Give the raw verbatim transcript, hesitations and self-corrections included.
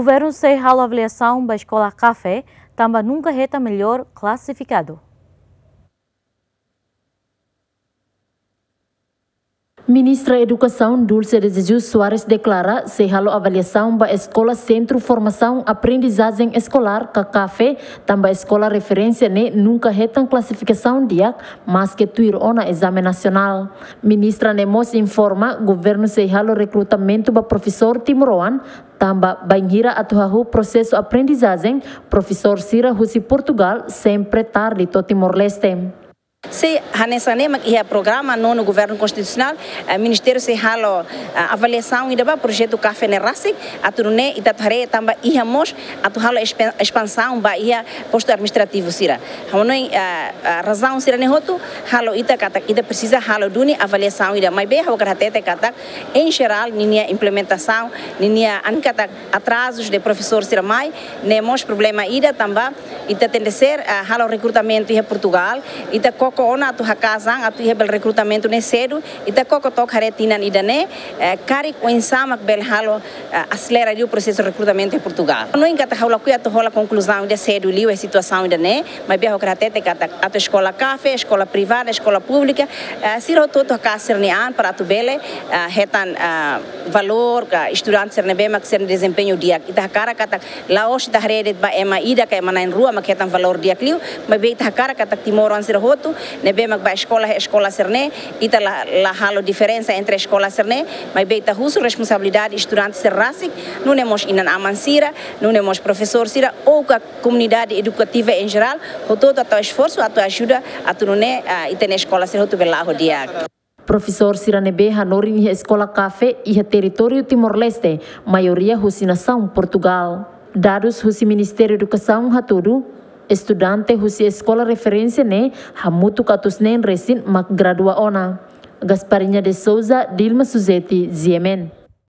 Governu sei halo avaliasaun ba eskola Kafe, tanba nunka hetan melhor klasifikadu. Ministra Edukasaun Dulce de Jesus Soares deklara sei halo avaliasaun ba eskola Sentru Formasaun Aprendizajen Eskolár ka Kafe, tanba eskola referénsia ne'e nunka hetan klasifikasaun di'ak, maske tuir ona ezame nasionál. Ministra ne'e mós informa governu sei halo rekrutamentu ba profesór timoroan, tanba bainhira atu hahú prosesu aprendizajen, profesór sira husi Portugal sempre tarde to'o Timor-Leste. Se hanesan ne'e mak iha programa nonu governu konstitusionál, eh, ministériu sei halo, eh, avaliasaun ida ba projetu Kafe ne'e rasik, atu nune'e ita atu haree tanba iha mós atu halo espan-, espansaun ba iha postu administrativu sira. Ha'u hanoin, eh, eh, razaun sira-ne'e hotu halo ita katak ita presiza halo duni avaliasaun ida, maibé ha'u hakarak hatete katak en jerál ninia implementasaun, ninia an katak atrazus de profesór sira mai, ne'e mós problema ida tanba ita tenke ser, ah, halo rekrutamentu iha Portugal, ita koko ona atu hakaas an atu iha bele rekrutamentu ne'e sedu, ita koko to'o haree tinan ida-ne'e, eh, karik oinsá mak bele halo, eh, aselera liu prosesu rekrutamentu iha Portugal. No entantu ha'u lakohi atu hola konkluzaun ida sedu liu iha situasaun ida-ne'e, maibé ha'u hakarak hatete katak atu eskola Kafe, eskola privada, eskola públika, eh, sira hotu-hotu hakaas sira-nia an para atu bele, eh, hetan, eh, valór ka estudante sira ne'ebé mak sira-nia dezempeñu di'ak. Ita hakarak katak la'ós ita haree de'it ba ema ida ka ema na'in-rua mak hetan valór di'ak liu, maibé ita hakarak katak timoroan sira hotu ne'ebé mak bá eskola, eskola sira-ne'e, ita la, la halo diferensa entre eskola sira-ne'e, maibé ita husu responsabilidade estudante sira rasik, nune'e mós inan-aman sira, nune'e mós profesór sira, ou ka komunidade edukativa en jerál, hotu-hotu atu esforsu atu ajuda atu nune'e, ah, ita-nia eskola sira hotu bele la'o di'ak. Profesór sira ne'ebé hanorin iha eskola Kafe iha territóriu Timor-Leste, maioria husi nasaun Portugal. Dadus husi Ministériu Edukasaun hatudu, estudante husi eskola referénsia ne'e hamutuk atus neen resin mak gradua ona. Gasparinha de Souza, Dilma Suzeti, G M N.